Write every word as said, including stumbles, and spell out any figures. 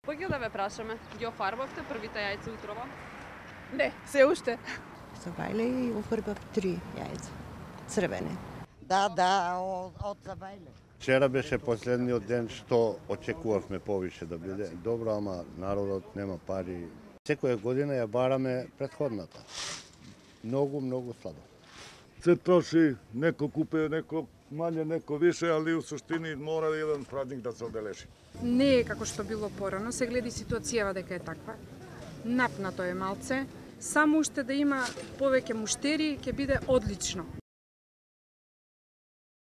Поќе да ве прашаме, ги офарбавте првите јајца утрова? Не, се уште. Забајле и офарбав три јајца, црвени. Да, да, од, од Забајле. Вчера беше последниот ден што очекувавме повише да биде добро, ама народот нема пари. Секоја година ја бараме претходната. Многу, многу слабо. Се троши, неко купе, неко мање, неко више, али у суштини мора еден празник да се одележи. Не е како што било порано, се гледи ситуацијава дека е таква. Напнато е малце, само уште да има повеќе муштери ќе биде одлично.